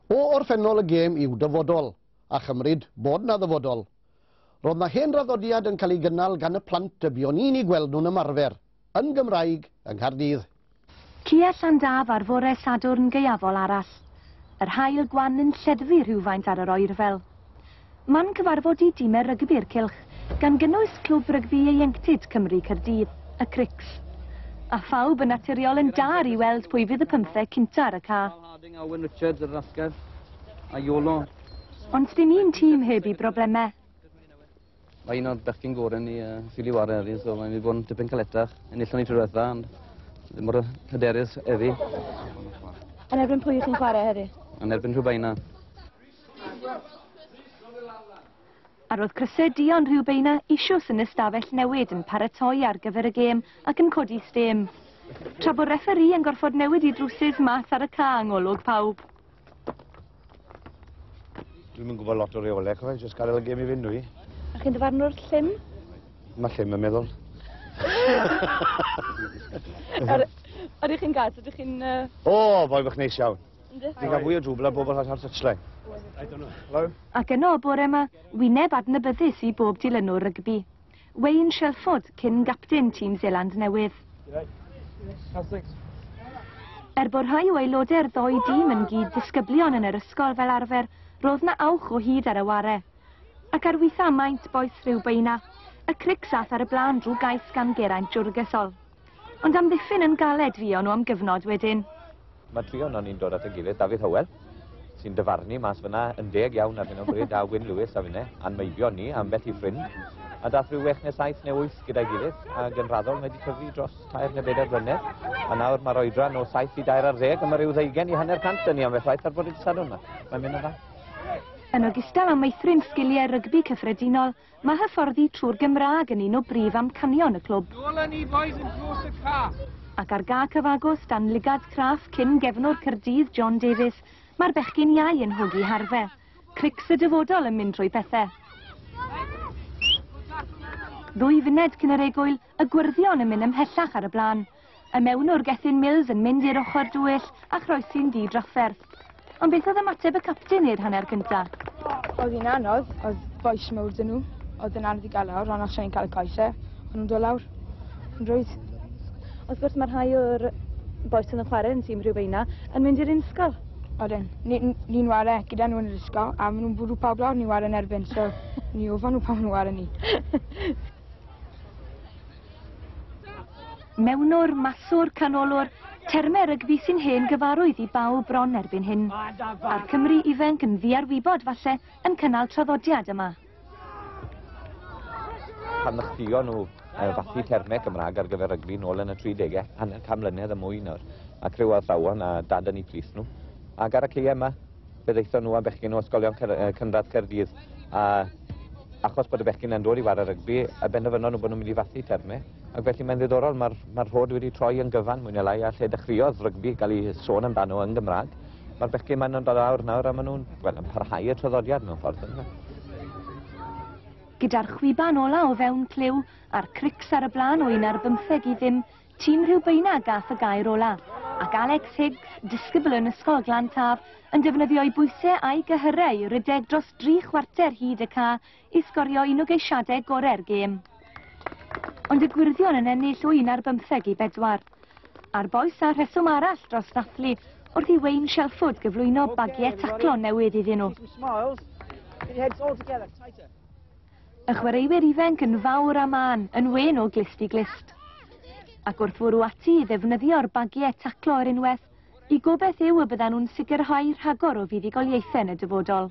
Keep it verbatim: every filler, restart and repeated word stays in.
O orffennol y gêm i'w dyfodol, a chymryd bod na ddyfodol. Roedd na hen draddodiad yn cael ei gynnal gan y plant y buon ni'n ei gweld nhw'n ymarfer, yn Gymraeg, yng Nghaerdydd. Cia Llandaf ar fore Sadwrn gaeafol arall. Yr haul gwan yn lleddfu rhywfaint ar yr oerfel. Man cyfarfod i dimau rygbi'r cylch, gan gynnwys Clwb Rygbi Ieuenctid Cymru Caerdydd, y Crics. A phawb yn naturiol yn dar i weld pwy fydd y pymtheg cynta ar y ca. Harding, Owen Richards, yr asgell, a Iolo. Ond dim un tîm heb i broblemau. Mae un o'r bechgyn gorau ni uh, ffili ware heddi, so mae'n mynd i fod yn dipyn caletach. Enillon ni tro diwetha, ond ddim mor hyderus heddi. Yn erbyn pwy chi'n chwarae heddi? Yn erbyn Rhiwbeina. A roedd crysau duon Rhiwbeina eisoes yn y stafell newid yn paratoi ar gyfer y gêm ac yn codi stêm. Tra bod referee yn gorfod newid i drwsus mas ar y ca yng ngolwg pawb. Dwi'm yn gwybod lot o reolau, cofio, jyst gadael y gêm i fynd dwi. A chi'n dyfarnwr llym? Mae llym yn meddwl. Ydych chi'n gas? Ydych chi'n... Uh... O, boi bach neis iawn. Fi'n cael fwy o drwbl ar bobl ar touchline. Hello? Ac yno o bore yma, wyneb adnabyddus i bob dilynwr rygbi. Wayne Shelford, cyn gapten tîm Seland Newydd. Er bod rhai o aelodau'r ddou dîm yn gyd ddisgyblion yn yr ysgol fel arfer, roedd na awch o hyd ar y ware. Ac ar weitha maint bois Rhiwbeina, y Crics ath ar y blaen drwy gais gan Geraint Jwrgesol. Ond amddiffyn yn galed fuon nhw am gyfnod wedyn. Mae tri ohonon ni'n dod at ein gilydd, Dafydd Hywel, sy'n dyfarnu mas fyna yn deg iawn ar hyn o bryd, a Wyn Lewis a finne, a'n meibion ni, ambell i ffrind. A dath rhyw wech neu saith neu wyth gyda'i gilydd, ac yn raddol mae wedi tyfu dros tair neu bedair blynedd. A nawr mae'r oedran o saith i dair ar ddeg, a mae rhyw ddeugain i hanner cant yn ni ambell waith ar bore dydd Sadwrn yma. Mae'n mynd yn dda. Yn ogystal â meithrin sgiliau rygbi cyffredinol, mae hyfforddi trwy'r Gymraeg yn un o brif amcanion y clwb. Nôl â ni boys yn dros y ca. Ac ar ga cyfagos dan lygad craff cyn gefnwr Caerdydd John Davies, mae'r bechgyn iau yn hogi harfe. Crics y dyfodol yn mynd trwy pethau. Ddwy funed cyn yr egwyl, y gwyrddion yn mynd ymhellach ar y blaen. Y mewnwr Gethin Mills yn mynd i'r ochr dwyll a chroesi'n ddi-drafferth. Ond beth oedd ymateb y capten i'r hanner cynta? Oedd hi'n anodd, oedd bois mawr dyn nhw. Oedd yn anodd i gael lawr, ond os o'n i'n cael y coesau, o'n nhw'n dod lawr yn rhwydd. Wrth gwrs mae rhai o'r bois yn y chwarae yn tîm Rhiwbeina yn mynd i'r ysgol. Odyn, ni'n ni ware gyda nhw yn yr ysgol, a maen nhw'n bwrw pawb lawr, ni'n ware yn erbyn, so ni ofan nhw pan maen nhw'n ware ni. Mewnwr, maswr, canolwr, termau rygbi sy'n hen gyfarwydd i bawb bron erbyn hyn. A'r Cymru ifanc yn ddiarwybod falle yn cynnal traddodiad yma. Pan ddechreuon nhw fathu termau Cymraeg ar gyfer rygbi nôl yn y tri degau, hanner can mlynedd a mwy nawr, a criw athrawon a dad yn eu plith nhw. Ac ar y caeau yma, fe ddaethon nhw a bechgyn o ysgolion cynradd Caerdydd, a achos bod y bechgyn yn dod i ware rygbi, a benderfynon nhw bod nhw'n mynd i fathu termau. Ac felly mae'n ddiddorol, mae'r ma rhod wedi troi yn gyfan mwy neu lai, a lle dechreuodd rygbi gael ei sôn amdano yn Gymraeg. Mae'r bechgyn ma'n dod lawr nawr a maen nhw'n, wel, yn parhau y traddodiad mewn ffordd. Gyda'r chwiban ola o fewn clyw a'r Crics ar y blaen o un ar bymtheg i ddim, tîm Rhiwbeina gath y gair ola. Ac Alex Higgs, disgybl yn Ysgol Glan Taf, yn defnyddio'i bwysau a'i gyhyrau i rydeg dros dri chwarter hyd y ca i sgorio un o geisiadau gorau'r gêm. Ond y gwyrddion yn ennill o un ar bymtheg i bedwar. A'r bois a rheswm arall dros ddathlu wrth i Wayne Shelford gyflwyno bagiau taclo newydd iddyn nhw. Y chwaraewyr ifanc yn fawr a mân, yn wen o glust i glust. Ac wrth fwrw ati i ddefnyddio'r bagiau taclo ar unwaith, i gobeith yw y byddan nhw'n sicrhau rhagor o fuddugoliaethau yn y dyfodol.